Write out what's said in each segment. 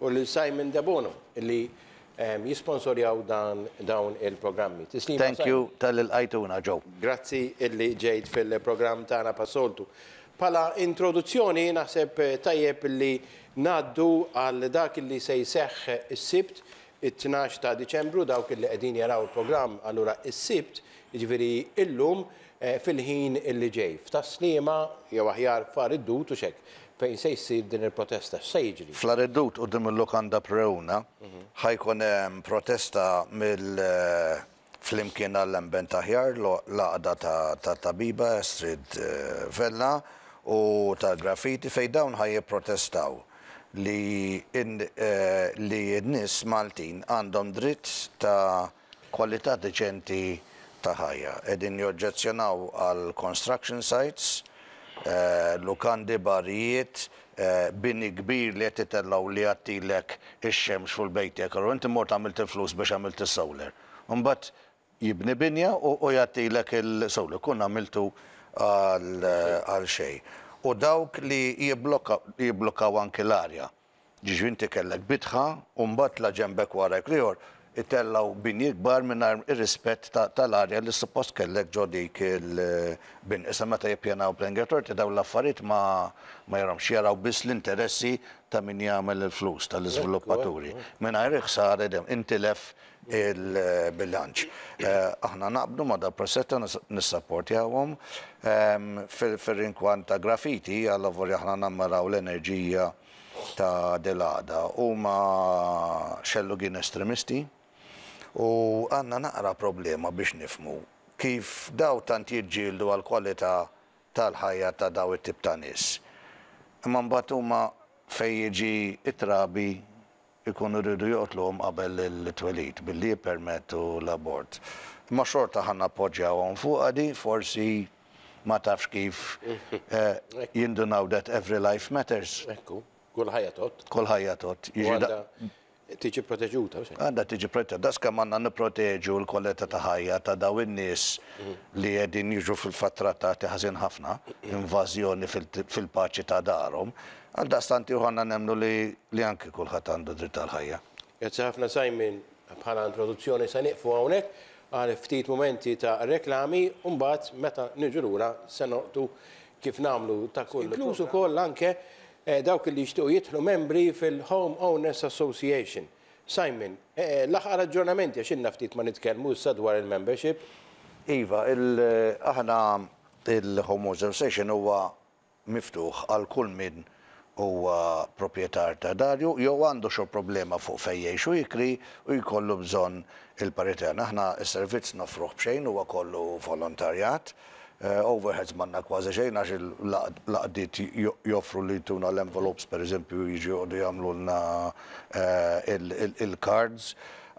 u lil Simon Debono li jisponsorjaw dan dawn il-programmi. Tislima Thank Simon. you talli lqajtuna Joe. Grazzi illi ġejt fil-programm tagħna bħas-soltu. Bħala introduzzjoni naħseb tajjeb li ngħaddu għal dak illi se jseħħ is-Sibt, it-12 ta' Diċembru, dawk illi qegħdin jaraw il-programm allura is-Sibt, jiġifieri illum, fil-ħin illi ġej. F'Tas-Sliema, jew aħjar f'Għar id-Dud hux hekk, fejn se jsir din il-protesta. X'se jiġri? Fl-Għar id-Dud quddiem il-Lukanda Preuna ħa jkun hemm protesta mill Flimkien għall-Ambent Aħjar, l-għaqda ta' tabiba Astrid Vella u tal-Graffiti fejn dawn ħa jipprotestaw li li n-nies Maltin għandhom dritt ta' kwalità deċenti ta' ħajja. Qegħdin joġġezzjonaw għal construction sites, lukandi, barijiet, bini kbir li qed itellgħu li jgħattilek ix-xemx fuq il-bejt tiegħek. Allura inti mort għamilt il-flus biex għamilt is-solar. U mbagħad jibni binja u jgħattilek il-solar. Kun għamiltu għal xejn. U dawk li jibblokkaw anki l-arja. Jiġifieri inti kellek bitħa u mbagħad la ġenbek warajk l-ieħor itellgħu binji kbar mingħajr ir-rispett tal-arja li suppost kellek ġo dik il-binja. Issa meta jippjanaw Planning Authority dawn l-affarijiet ma jarahomx, jaraw biss l-interessi ta' min jagħmel il-flus, tal-iżviluppaturi, mingħajr il-ħsara intilef il-bilanċ. Aħna naqblu ma' dal-protesta, nissapportjawhom. Fir-rinkwant ta' graffiti, allavolja aħna nammiraw l-enerġija ta' dil-għaqda, huma xellugin estremisti u għandna naqra problema biex nifhmu kif daw tant jiġġieldu għall-kwalità tal-ħajja ta' daw it-tip ta' nies. Imma mbagħad huma fejn jiġi t-trabi jkunu riedu joqtluhom qabel it-twelid billi jippermettu l-abort. Imma xorta ħa nappoġġjawhom fuqha di, forsi ma tafx kif jindunaw that every life matters. Ekku, kull ħajja tgħodd. Kull ħajja tgħodd. U għandha tiġi proteġuta, hux hekk? Għandha tiġi proteġuta. Daqs kemm għandna nipproteġu l-kwalità ta' ħajja ta' dawn in-nies li qegħdin jiġu fil-fatt trattati ħażin ħafna, invażjoni fil-paċi ta' darhom, Għaldaqstant ieħor għandna nemmnu li li anki kulħadd għandu dritt għall-ħajja. Grazzi ħafna Simon, bħala introduzzjoni se nieqfu hawnhekk għal ftit mumenti ta' reklami u mbagħad meta niġu lura se nolqtu kif nagħmlu ta' kull inkluż ukoll anke dawk li jixtiequ jidħlu membri fil-Home Owners Association. Simon, l-aħħar aġġornamenti għax ilna ftit ma nitkellmu issa dwar il-membership. Iva, aħna il-Home Owners Association huwa miftuħ għal kull min huwa proprjetar ta' darju jew għandu xo problema fuq fejn jgħix u jikri u jkollu bżonn il-parir tagħna. Aħna s-servizz noffruh b'xejn, huwa kollu volontarjat. Overheads m'għandna kważi xejn għax l-għaqdiet joffru li jtuna l-envelopes pereżempju jiġu joqogħdu jagħmlulna il-cards.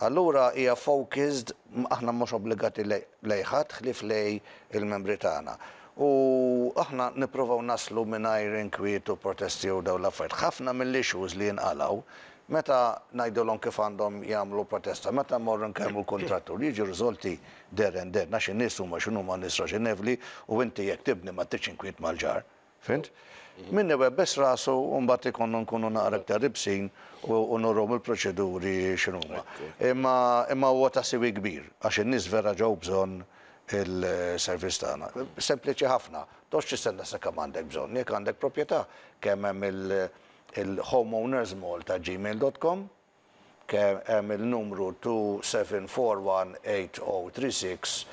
Allura hija focused, aħna mhux obbligati lejn ħadd ħlief lejn il-membri tagħna. U aħna nipprovaw naslu mingħajr inkwiet u protesti u dawn l-affarijiet. Ħafna mill-issues li jinqalgħu, meta ngħidulhom kif għandhom jagħmlu protesta, meta mmorru nkellmu l-kuntrattur, jiġu riżolti there and then, għax in-nies huma x'inhuma nies raġonevli u inti jekk tibni ma tridx inkwiet mal-ġar. Fhimt? Min iwebbes rasu u mbagħad ikollna nkunu naqra iktar ibsin u nuruhom il-proċeduri x'inhuma. Imma imma huwa ta' siwi kbir għax in-nies vera ġew bżonn il-servizz tagħna. Sempliċi ħafna, toqgħodx tistenna sakemm għandek bżonn. Jekk għandek proprjetà, kemm hemm il-homeownersmalta@gmail.com, kemm hemm il-numru 27418036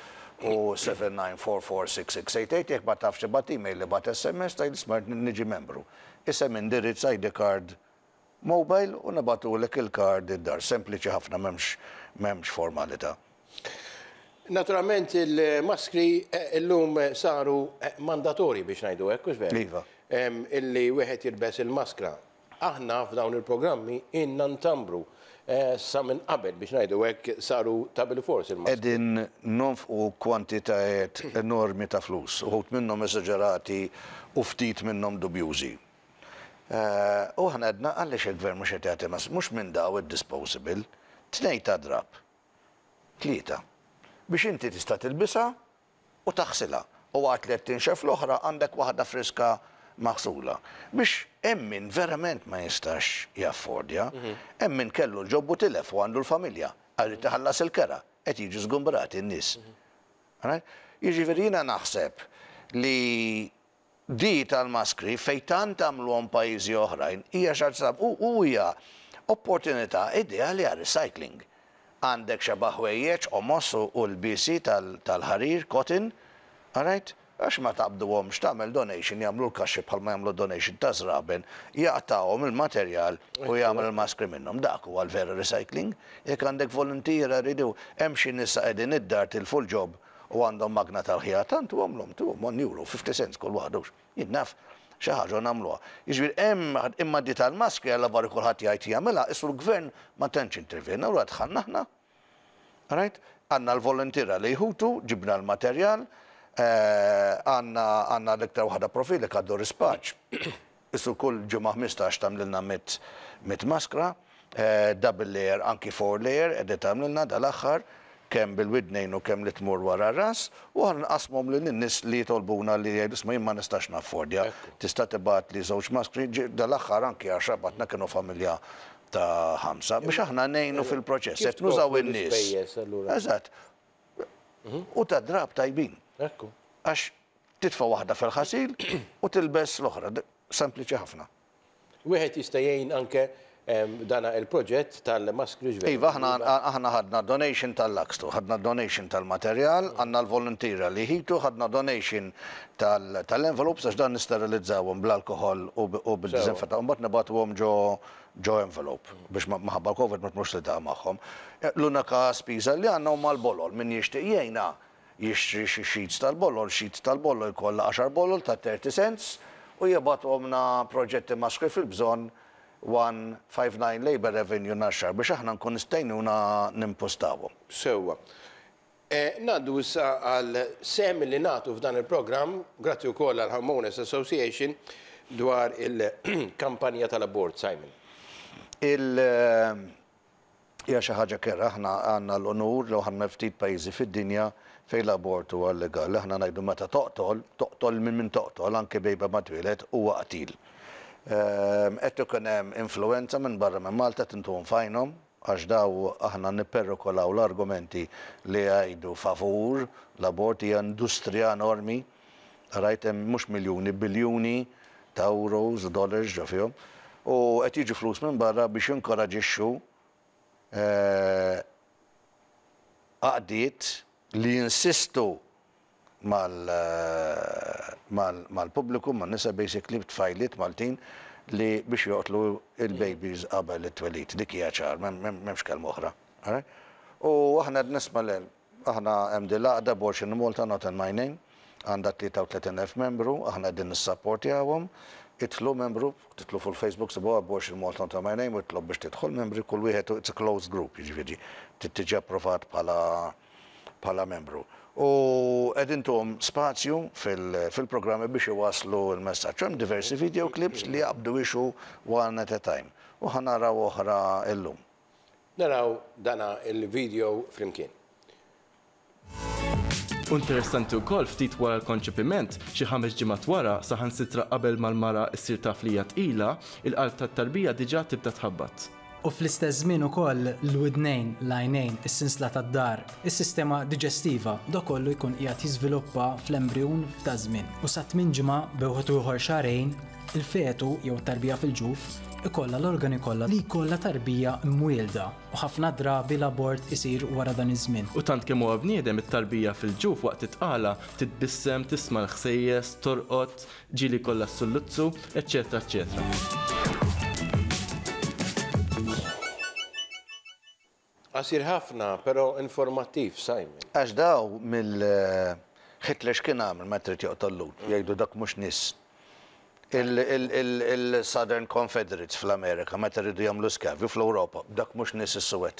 u 79446688, jekk ma tafx ibgħat email, ibgħat SMS, tgħid isma' rrid niġi membru. Isem, indirizz, ID card, mobile u nibagħtulek il-card id-dar. Sempliċi ħafna m'hemmx m'hemmx formalità. Naturalment il-maskri illum saru mandatorji biex ngħidu hekk, hux veru? Iva. Illi wieħed jilbes il-maskra. Aħna f'dawn il-programmi ilna ntambru sa minn qabel biex ngħidu hekk saru ta' bilfors il-maskri. Qegħdin nonfqu kwantitajiet enormi ta' flus, uħud minnhom esaġerati u ftit minnhom dubjużi. U aħna għedna għaliex il-Gvern mhux qed jagħti mas, mhux minn daw id-disposable, tnejn ta' drapp, tlieta, biex inti tista' tilbisha u taħsilha. U waqt li qed tinxef l-oħra għandek waħda friska maħsula. Biex hemm min verament ma jistax jaffordja, hemm min kellu l-job u tilef u għandu l-familja, irid iħallas il-kera, qed jiġu żgumbrati n-nies. Jiġifieri jiena naħseb li di tal-maskri fejn tant għamluhom pajjiżi oħrajn hija xi ħaġa u hija opportunità ideali għal recycling. Għandek xeba' ħwejjeġ, qomos u lbiesi tal-ħarir, cotton, alright? Għax ma taqbduhomx, tagħmel donation, jagħmlu l-kaxxi bħalma jagħmlu donation ta' żraben, jaqtgħuhom il-materjal u jagħmel il-maskri minnhom. Dak huwa l-vera recycling. Jekk għandek voluntiera jridu, hemm xi nisa qegħdin id-dar tilfu l-job u għandhom magna tal-ħjata, ntuhomlhom, tuhom one euro, 50 cents kull waħda hux. Jien naf, xi ħaġa u nagħmluha. Jiġifieri hemm, imma di tal-maskri alla barra kulħadd jgħid jagħmilha, qisu l-gvern ma tantx intervjena, allura dħalna aħna. Right? Għandna l-voluntiera li jħutu, ġibna l-materjal, għandna għandna l-iktar waħda profili għaddu rispaċ. Isu kull ġimgħa 15 tagħmlilna mit maskra, double layer, anki four layer, qegħda tagħmlilna dal-aħħar kemm bil-widnejn u kemm li tmur wara r-ras, u aħna nqassmuhom lil nies li jitolbuna li jgħidu isma' jien ma nistax naffordja, tista' tibgħatli żewġ maskri, dal-aħħar anki għaxra bagħatna kienu familja ta' ħamsa biex aħna ngħinu fil-proċess. Qed nużaw in-nies. Eżatt. U ta' drab tajbin. Ekku. Għax titfa' waħda fil-ħasil u tilbes l-oħra. Sempliċi ħafna. Wieħed jista' jgħin anke dana il-proġett tal-maskri ġveri. Iva, aħna ħadna donation tal-Laxtu, ħadna donation tal-materjal, għandna l-voluntiera li jħitu, ħadna donation tal-envelopes għax dan nisterilizzawhom bl-alkohol u bil-disinfettant, u mbagħad nibagħtuhom ġo ġo envelope biex minħabba l-Covid ma tmurx tiltaqa' magħhom. L-unika spiża li għandna huma l-bolol, min jixtieq jgħinna jixtri xi sheets tal-bolol, sheet tal-bolol jkollha għaxar bolol ta' 30 cents u jibgħathomlna Proġetti Maskri fil-Bżonn 159 Labour Avenue Naxxar biex aħna nkun nistgħinuna nimpustawhom. Sewwa. Ngħaddu issa għal sehem li nagħtu f'dan il-programm, grazzi wkoll għal Homeowners Association, dwar il-kampanja tal-abort, Simon. Il hija xi ħaġa kerha, aħna għandna l-unur li aħna ftit pajjiżi fid-dinja fejn l-abort huwa llegali. Aħna ngħidu meta toqtol, toqtol minn min toqtol, anke bejba ma twieled, huwa qtil. Qed ikun hemm influwenza minn barra minn Malta tintuhom f'għajnhom, għax daw aħna nipperikolaw l-argumenti li jgħidu favur l-abort, hija industrija enormi, rajt hemm mhux miljuni, biljuni ta' euros u dollars ġo fihom, u qed jiġu flus minn barra biex jinkoraġixxu għaqdiet li jinsistu mal-pubbliku, man-nisa basically, tfajliet Maltin li biex joqtlu il-babies qabel it-twelid. Dik hija ċar, m'hemmx kelma oħra. U aħna qed nisma' le, aħna hemm din l-għaqda Abortion in Malta Not in My Name, għandha 33,000 membru, aħna qegħdin nissapportjawhom. Idħlu membru, tidħlu fuq il-Facebook sibuha Abortion Malta Not in My Name u itlob biex tidħol membri, kull wieħed it's a closed group, jiġifieri trid tiġi approvat bħala bħala membru. U qed intuhom spazju fil-programmi biex iwasslu l-messaġġ. Hemm diversi video clips li jaqbdu issue one at a time. U ħa naraw oħra illum. Naraw dana il-video flimkien. U interessanti wkoll ftit wara l-konċepiment, xi 5 ġimgħat wara, saħansitra qabel ma l-mara ssir taf li hija tqila, il-qalb tat-tarbija diġà tibda tħabbat. U fl-istess żmien ukoll l-widnejn, l-għajnejn, is-sinsla tad-dar, is-sistema diġestiva, dak kollu jkun qiegħed jiżviluppa fl-embrijun f'daż-żmien. U sa tmien ġimgħa, bejn wieħed u ieħor xahrejn, il-fetu jew it-tarbija fil-ġuf ikollha l-organi kollha li jkollha tarbija mwielda u ħafna drabi l-abort isir wara dan iż-żmien. U tant kemm huwa bniedem it-tarbija fil-ġuf waqt it-tqala titbissem, tisma' l-ħsejjes, torqod, Ġieli jkollha s-sulluzzu, eċċetera eċċetera. Qasir ħafna, però informattiv, Simon. Għax daw mill Hitler x'kien għamel meta trid joqtol Lhud? Jgħidu dak mhux nies. Il-Southern Confederates fl-Amerika meta riedu jagħmlu skjavi fl-Ewropa, dak mhux nies is-suwed.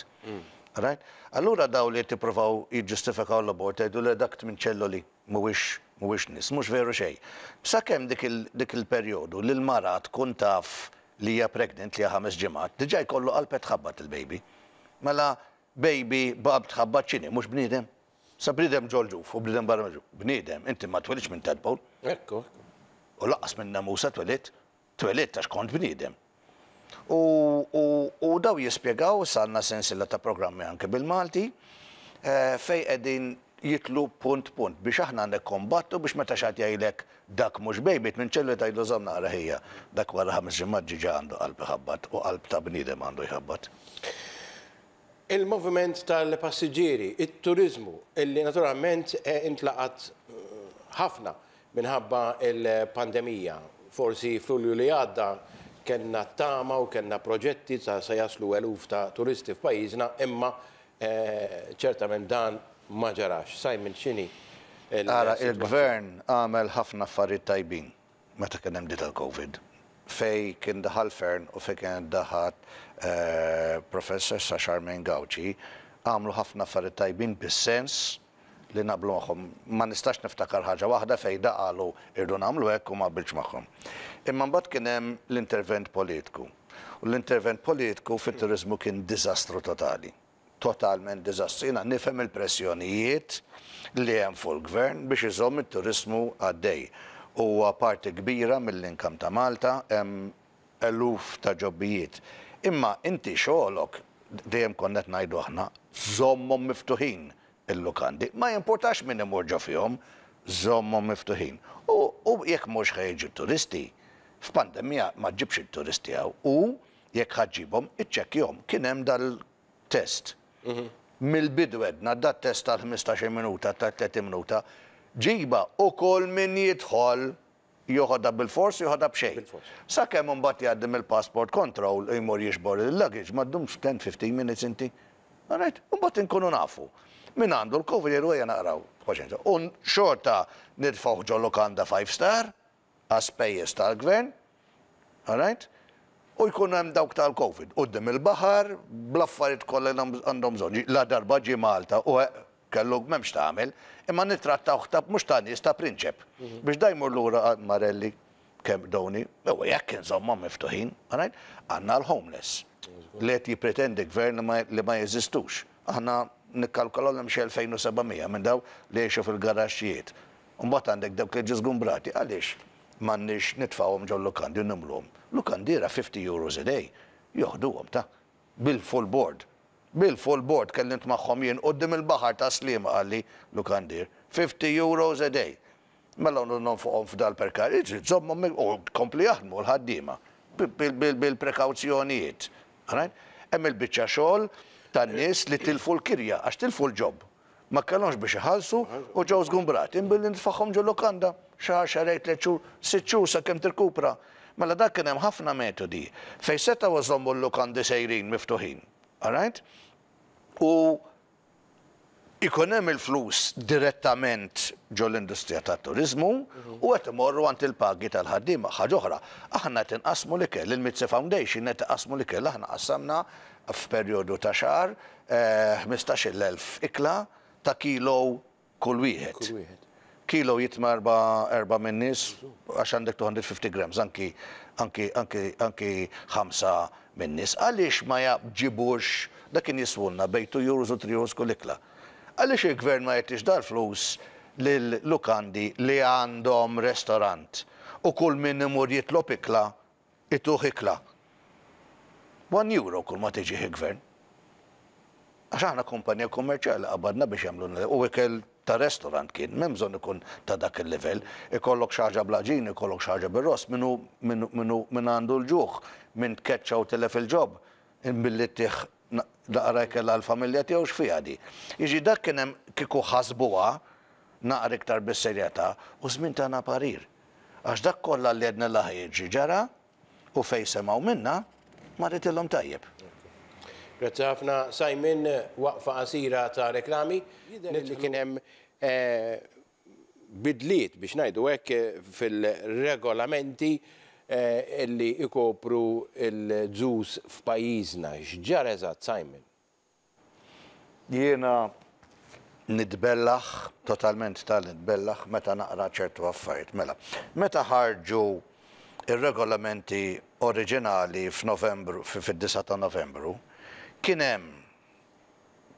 Right? Allura daw li qed jippruvaw jiġġustifikaw l-abort jgħidu le dak tmien ċelloli. Mhuwiex mhuwiex nies, mhux veru xejn. Sakemm dik il dik il-perjodu li l-mara tkun taf li hija pregnant li hija ħames ġimgħat, diġà jkollu qalb qed tħabbat il-baby. Mela baby b'qalb tħabbat x'inhi, mhux bniedem? Sa bniedem ġol-ġuf u bniedem barra mill-ġuf. Bniedem, inti ma twelidx minn tadpole. Ekku, ekku. U lanqas minn nemusa twelidt, twelidt għax kont bniedem. U, u, u daw jispjegaw, issa għandna sensiela ta' programmi anke bil-Malti, fejn qegħdin jidħlu punt punt biex aħna nikkombattu biex meta xi ħadd jgħidlek dak mhux baby tminċellu tgħidlu żomm naqra ħija, dak wara ħames ġimgħat ġiġa għandu qalb iħabbat u qalb ta' bniedem għandu jħabbat. Il-moviment tal-passiġġieri, it-turiżmu, illi naturalment intlaqat ħafna minħabba l-pandemija. Forsi f'Lulju li għadda kellna t-tama u kellna proġetti ta' se jaslu eluf ta' turisti f'pajjiżna imma ċertament dan ma ġarax. Simon x'inhi Ara, il-Gvern għamel ħafna affarijiet tajbin meta kien hemm di tal-Covid. Fejn kien daħal Fearne u fejn kienet daħat Professoressa Charmaine Gauci, għamlu ħafna affarijiet tajbin bis-sens li naqblu magħhom. Ma nistax niftakar ħaġa waħda fejn da qalu irridu nagħmlu hekk u ma qbiltx magħhom. Imma mbagħad kien hemm l-intervent politiku. U l-intervent politiku fit-turiżmu kien diżastru totali. Totalment diżastru. Jiena nifhem il-pressjonijiet li hemm fuq il-gvern biex iżomm it-turiżmu għaddej. Huwa parti kbira mill-income ta' Malta, hemm eluf ta' ġobbijiet. Imma inti xogħolok, dejjem konna qed ngħidu aħna, żommhom miftuħin il-lukandi. Ma jimpurtax min imur ġo fihom, żommhom miftuħin. U, u jekk mhux ħa jiġu t-turisti, f'pandemija ma ġġibx it-turisti hawn. U jekk ħa ġġibhom, iċċekkjahom. Kien hemm dal-test. Mill-bidu għedna dat-test tal-15 minuta, tal-30 minuta, ġiba u kull min jidħol joħodha bilfors u joħodha b'xejn. Sakemm imbagħad jgħaddi mill-passport control u jmur jiġbor il-luggage, ma ddumx 10-15 minutes inti. All right? Imbagħad inkunu nafu. Min għandu l-Covid jgħidu ejja naqraw paċenzja. U xorta nitfgħuh ġo lukanda 5 star għas-spejjeż tal-gvern. All right? U jkun hemm dawk tal-Covid quddiem il-baħar bl-affarijiet kollha li għandhom bżonn. La darba ġie Malta u kellu m'hemmx tagħmel, imma nittrattawh ta' mhux ta' nies ta' prinċep. Biex da jmur lura għand Marelli kemm doni, u jekk inżommhom miftuħin, all right? Għandna l-homeless li qed jippretendi gvern li ma jeżistux. Aħna nikkalkulaw hemm xi 2700 minn daw li jgħixu fil-garaxxijiet. Mbagħad għandek dawk li ġew żgumbrati. Għaliex m'għandniex nitfgħuhom ġol lukandi u nimluhom? Lukandiera 50 euros a day joħduhom ta' bil-full board. Bil-full board kellimt magħhom jien quddiem il-baħar ta' Sliema qalli lukandier. 50 euros a day. Mela nonfoqhom f'dal perkar, żommhom u kompli jaħdmu l-ħaddiema bil-prekawzjonijiet. Hemm il-biċċa xogħol tan-nies li tilfu l-kirja għax tilfu l-job. Ma kellhomx biex iħallsu u ġew żgumbrati. Imbilli nitfagħhom ġo lukanda xahar, xahrejn, tliet xhur, sitt xhur sakemm tirkupra. Mela dak kien hemm ħafna metodi fejn setgħu iżommu l-lukandi sejrin miftuħin. All right? U ikun hemm il-flus direttament ġo l-industrija tat-turiżmu u qed imorru għand il-pagi tal-ħaddiema. Ħaġa oħra, aħna qed inqassmu l-ikel, il-Mizzi Foundation qed iqassmu l-ikel, aħna qassamna f'perjodu ta' xahar 15,000 ikla ta' kilo kull wieħed. Kull wieħed. Kilo jitma' erba' minn nies għax għandek 250 grams, anki anki anki anki ħamsa minn nies. Għaliex ma ġibux dak kien jiswulna bejn 2 euros u 3 euros kull ikla. Għaliex il-gvern ma jagħtix dal-flus lil lukandi li għandhom restorant u kull min imur jitlob ikla ituh ikla. 1 euro kull ma tiġih il-gvern. Għax aħna kumpanija kummerċjali qabadna biex jagħmlu u ikel ta' restaurant kien, m'hemm bżonn ikun ta' dak il-livell. Ikollok xi ħaġa bl-għaġin, ikollok xi ħaġa bir-ross, min hu min għandu l-ġuħ, min tkeċċa u tilef il-job, billi ttih naqra ikel għall-familja tiegħu x'fiha di. Jiġi dak kien hemm kieku ħasbuha naqra iktar bis-serjetà u żmien tagħna parir. Għax dak kollha li għedna la ħa jiġri ġara u fejn semgħu minna ma ritilhom tajjeb. Grazzi ħafna Simon, waqfa qasira ta' reklami. Jidher li kien hemm bidliet biex ngħidu hekk fil-regolamenti li ikopru l-zoos f'pajjiżna. X'ġara eżatt Simon? Jiena nitbellaħ, totalment ta' nitbellaħ meta naqra ċertu affarijiet. Mela, meta ħarġu ir-regolamenti oriġinali f'Novembru, fid-9 ta' Novembru, kien hemm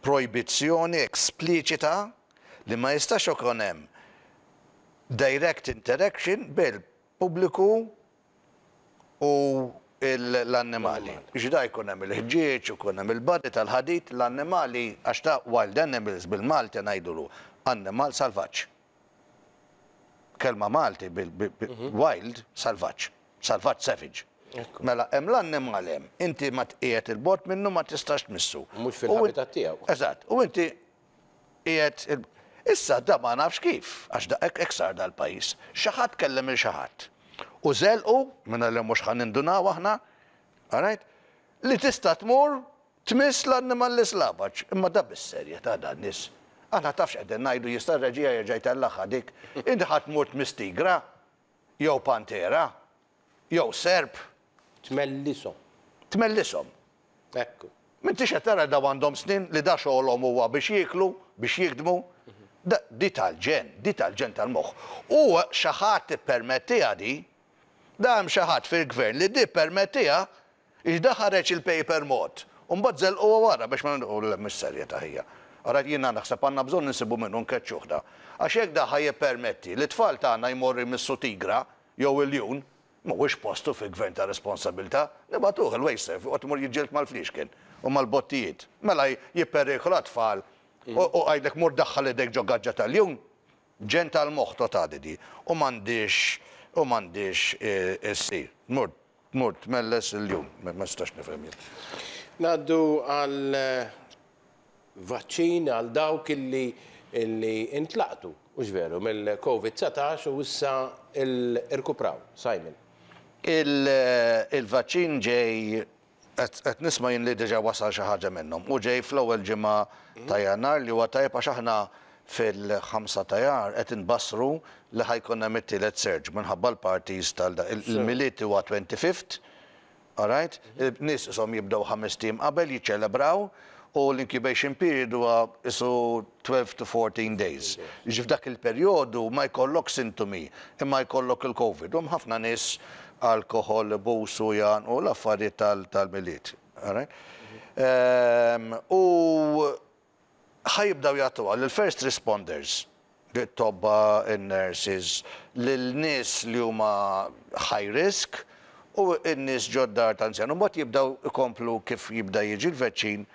projbizzjoni espliċita li ma jistax ikun hemm direct interaction bil il-pubbliku u l-annimali. Biex da jkun hemm il-ħġieġ, ikun hemm il-body tal-ħadid, l-annimali, għax ta' wild animals bil-Malti ngħidulu annimal salvaġġ. Kelma Malti bil-wild, salvaġġ. Salvaġġ savage. Mela hemm l-annimal hemm, inti ma tqiegħed il-bogħod minnu ma tistax tmissu. Mhux fil-habitat tiegħu. Eżatt, u inti qiegħed Issa da ma nafx kif, għax da hekk sar dal-pajjiż. Xi ħadd kellem il xi ħadd. U żelqu, mingħajr li mhux ħa nindunaw aħna, alright, li tista' tmur tmiss l-annimal l-islavaġ. Imma da bis-serjetà dan nies. Aħna taf x'qegħdin ngħidu jista' r-reġija jerġa' jtellagħha dik. Inti ħa tmur tmiss tigra jew pantera jew serp. Tmellishom. Tmellishom. Ekku. M'intix qed tara daw għandhom snin li da xogħolhom huwa biex jieklu, biex jikdmu. Di tal-ġenn, di tal-ġenn tal-moħħ. U xi ħadd ippermettiha di. Da hemm xi ħadd fil-gvern li di ppermettiha għax da ħareġ il-paper mod u mbagħad żelquha wara biex ma u le mhix serjetà ħija. Ara jiena naħseb għandna bżonn insibu min hu nkeċċuh da. Għax jekk da ħa jippermetti li t-tfal tagħna jmorru jmissu tigra jew iljun, Mhuwiex postu fi gvern ta' responsabilità. Nibagħtuh il-Wasteserv joqgħod imur jiġġieled mal-fliexken u mal-bottijiet. Mela jipperikola t-tfal u għidlek mur daħħal idejk ġo gaġġa ta' ljun? Ġenn tal-moħħ totali di. U m'għandhiex u m'għandhiex issir. Tmur tmur tmelles il-ljun. Ma nistax nifhem jien. Ngħaddu għal vaċċin għal dawk illi illi intlaqtu, hux veru, mill-Covid 19 u issa irkupraw. Simon. Il-vaċċin ġej, qed nisma' jien li diġà wasal xi ħaġa minnhom u ġej fl-ewwel ġimgħa ta' Jannar li huwa tajjeb għax aħna fil-5 ta' Jannar qed inbassru li ħa jkun hemm it-tielet surge minħabba l-parties tal il-Milied huwa 25th All right? Nies qishom jibdew ħamest ijiem qabel jiċċelebraw u l-incubation period huwa qisu 12 to 14 days. Jiġifieri f'dak il-perjodu ma jkollokx sintomi imma jkollok il-Covid. U hemm ħafna nies alkoħol, ibusu, jgħannqu l-affarijiet tal-Milied. All right? U ħa jibdew jagħtuha lill-first responders, lit-tobba, in-nurses, lil nies li huma high risk u n-nies ġod-dar ta' anzjan. U mbagħad jibdew ikomplu kif jibda jiġi l-vaċċin.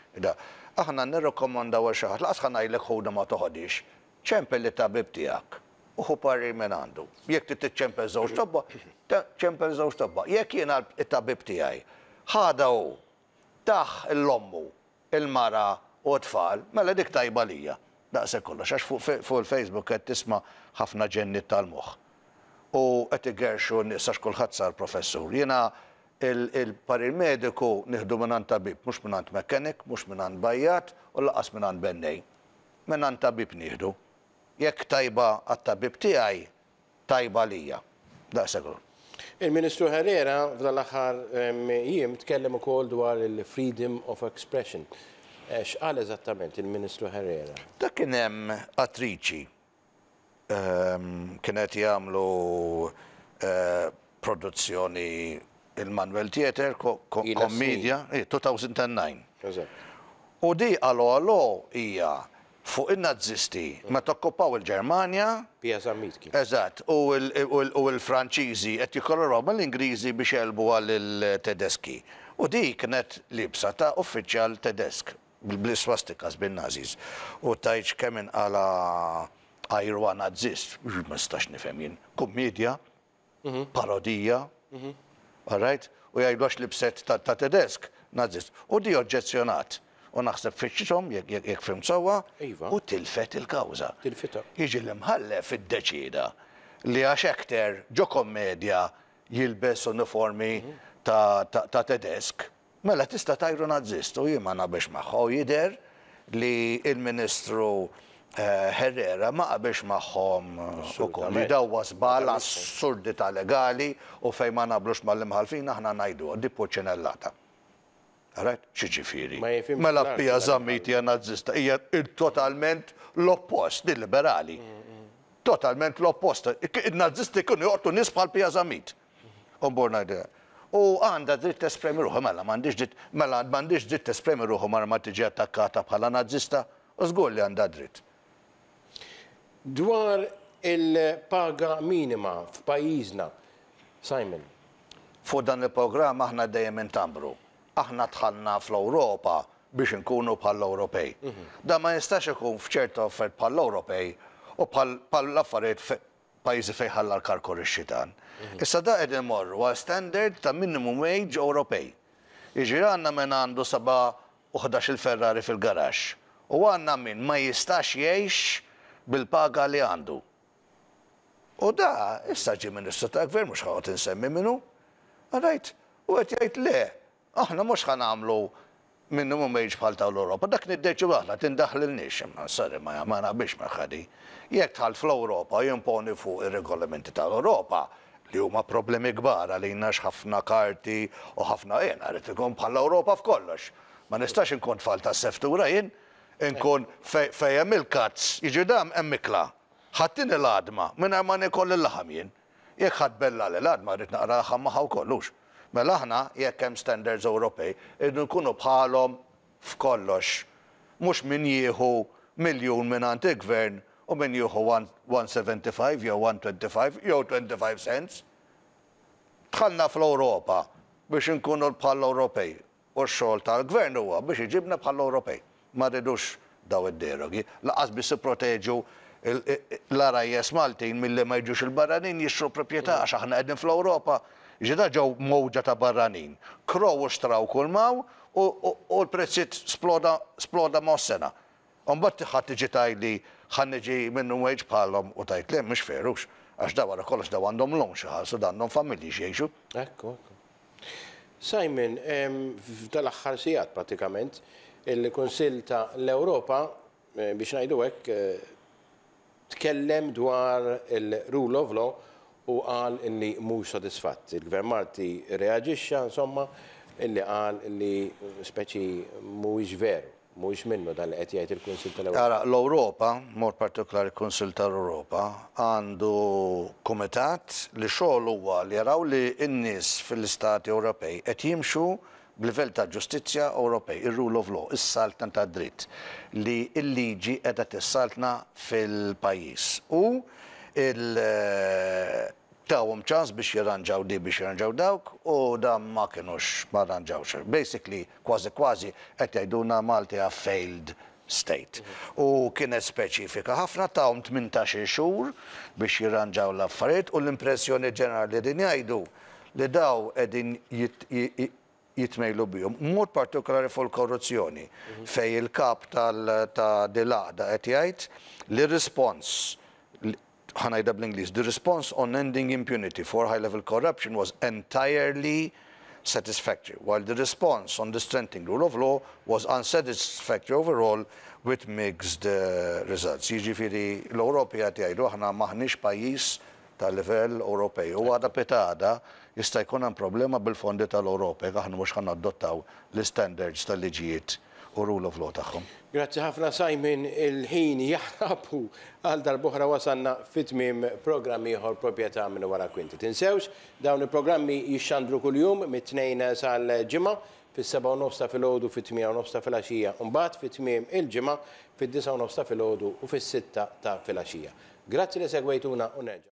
Aħna nirrakkomandaw għal xi ħadd, lanqas ħa ngħidlek ħudha ma toħodhiex, ċempel lit-tabib tiegħek u ħu parir minn għandu. Jekk trid tiċċempel żewġ tobba, ċempel żewġ tobba. Jekk jiena t-tabib tiegħi ħadha hu, tah 'l ommu il-mara u t-tfal, mela dik tajba għalija. Daqshekk kollox, għax fuq il-Facebook qed tisma' ħafna ġenniet tal-moħħ. U qed igerrxu n-nies għax kulħadd sar professur. Jiena il-parir mediku nieħdu mingħand tabib, mhux mingħand mechanic, mhux mingħand bajjat u lanqas mingħand bennej. Mingħand tabib nieħdu. Jekk tajba għat-tabib tiegħi, tajba għalija. Daqshekk hu. Il-Ministru Herrera f'dan l-aħħar jiem tkellem ukoll dwar il-freedom of expression. X'qal eżattament il-Ministru Herrera? Dak kien hemm attriċi kien qed jagħmlu produzzjoni il-Manuel Theatre, kommedja, 2009. U di Allo Allo hija fuq in-Nazisti meta okkupaw il-Ġermanja. Pia Zammit kien. Eżatt, u l-Franċiżi qed jikkollaboraw mal-Ingliżi biex jegħlbuha lil-Tedeski. U di kienet liebsa ta' uffiċjal Tedesk, bl-iswastikas, bin-Nazis. U tgħidx kemm inqala' ajru Nazist, ma nistax nifhem jien. Kummiedja. parodija, all right, u jgħidu għax libset ta' Tedesk, Nazist. U di oġġezzjonat. U naħseb fittxithom, jekk fhimt sewwa, u tilfet il-kawża. Tilfitha. Jiġi l-imħallef iddeċieda li għax actor ġo kommedja jilbes uniformi ta' Tedesk, Mela tista' tgħajru Nazzist u jien ma naqbilx magħha u jidher li l-Ministru Herrera ma qabilx magħhom ukoll li da huwa żball assurdità legali u fejn ma naqblux mal-imħallfin aħna ngħiduha di purċinellata. Alright? X'jiġifieri? Mela Pia Zammit hija Nazzista, hija totalment l-oppost, din liberali. Totalment l-oppost. In-Nażisti kienu joqtlu nies bħal Pia Zammit. U mmur ngħidilha. U għandha dritt tespremi ruħha, mela m'għandhiex dritt, mela m'għandhiex dritt tespremi ruħha mara ma tiġi attakkata bħala Nażista? U żgur li għandha dritt. Dwar il-paga minima f'pajjiżna, Simon. Fuq dan il-programm aħna dejjem intambru. Aħna dħalna fl-Ewropa biex inkunu bħall-Ewropej. Dan ma jistax ikun f'ċertu affarijiet bħall-Ewropej u bħal affarijiet pajjiżi fejn ħalla l-karkor ix-xitan. Issa da qegħdin imorru għal standard ta' minimum wage Ewropej. Jiġifieri għandna min għandu 7 u 11-il Ferrari fil-garaxx u għandna min ma jistax jgħix bil-paga li għandu. U da, issa ġie ministru ta' gvern, mhux ħa noqgħod insemmi min hu. Rajt, u qed jgħid le, aħna mhux ħa nagħmlu minimum wage bħal ta' l-Ewropa, dak niddeċidu aħna tindaħlilniex, imma sorry ma ma naqbilx magħha. Jekk dħalt fl-Ewropa jimponi fuq ir-regolamenti tal-Ewropa li huma problemi kbar għalina ħafna karti u ħafna jien rrid ikun bħall-Ewropa f'kollox. Ma nistax inkun tfal ta' seftura jien, inkun fejn hemm il-cuts, jiġi dam hemm ikla. Ħa ttini l-għadma, mingħajr ma nikol il-laħam jien. Jekk ħa tbellagħli l-għadma rrid naqra laħam magħha wkoll hux. Mela aħna jekk hemm standards Ewropej, irridu nkunu bħalhom f'kollox. Mhux min jieħu miljun minn il-gvern u min jieħu 175 jew 125 jew 25 cents. Dħalna fl-Ewropa biex nkunu bħall-Ewropej u x-xogħol tal-gvern huwa biex iġibna bħall-Ewropej. Ma rridux daw id-derogi. Lanqas biex proteġu l-għarajjes Maltin milli ma jġux il-barranin jixtru proprjetà għax aħna qegħdin fl-Ewropa. Ġida ġew mowġa ta' barranin. Krow u xtraw kull m'hawn u l-prezzijiet sploda sploda ma' sena. Mbagħad ħadd tiġi tgħidli ħa niġi minimum wage bħalhom u tgħid le mhux fair hux. Għax da wara kollox daw għandhom loan xi ħalsu da għandhom familji x'jgħixu. Ekku, ekku. Simon, f'dal-aħħar sigħat pratikament, il-Kunsill ta' l-Ewropa, biex ngħidu hekk, tkellem dwar il-rule of law u qal illi mhux sodisfatt. Il-Gvern Malti reaġixxa, insomma, illi qal illi speċi mhuwiex veru, mhuwiex minnu dan li qed jgħid il-Kunsill tal-Ewropa. Ara, l-Ewropa, mod partikolari il-Kunsill tal-Ewropa, għandu kumitat li xogħol huwa li jaraw li n-nies fil-Istati Ewropej qed jimxu b'livell ta' ġustizzja Ewropej, ir-rule of law, is-saltna ta' dritt, li l-liġi qiegħda tissaltna fil-pajjiż. U il tawhom ċans biex jirranġaw di biex jirranġaw dawk u dan ma kienux ma rranġawx. Basically, kważi kważi qed jgħidulna Malta a failed state. U kienet speċifika ħafna tawhom 18 xhur biex jirranġaw l-affarijiet u l-impressjoni ġenerali din jgħidu li daw qegħdin jitmejlu bihom, mod partikolari fuq il-korruzzjoni, fej il-kap ta' dil-għaqda qed jgħid li respons ħa ngħidha bl-Ingliż, the response on ending impunity for high-level corruption was entirely satisfactory, while the response on the strengthening rule of law was unsatisfactory overall with mixed results. Jiġifieri l-Ewropi qed jgħidu aħna maħniex pajjiż ta' livell Ewropej. U għada pitgħada jista' jkun hemm problema bil-fondi tal-Ewropa jekk aħna mhux ħa nadottaw l-standards tal-liġijiet u rule of law tagħhom. Grazzi ħafna Simon, il-ħin jaħrab u għal darb'oħra wasalna fit-tmiem programm ieħor proprjetà minn wara kwinti. Tinsewx, dawn il-programmi jixxandru kuljum mit-tnejn sal-ġimgħa fis-7:30 ta' filgħodu fit-8:30 ta' filgħaxija, u mbagħad fit-tmiem il-ġimgħa fid-9:30 ta' filgħodu u fis-6 ta' filgħaxija. Grazzi li segwejtuna u nerġa'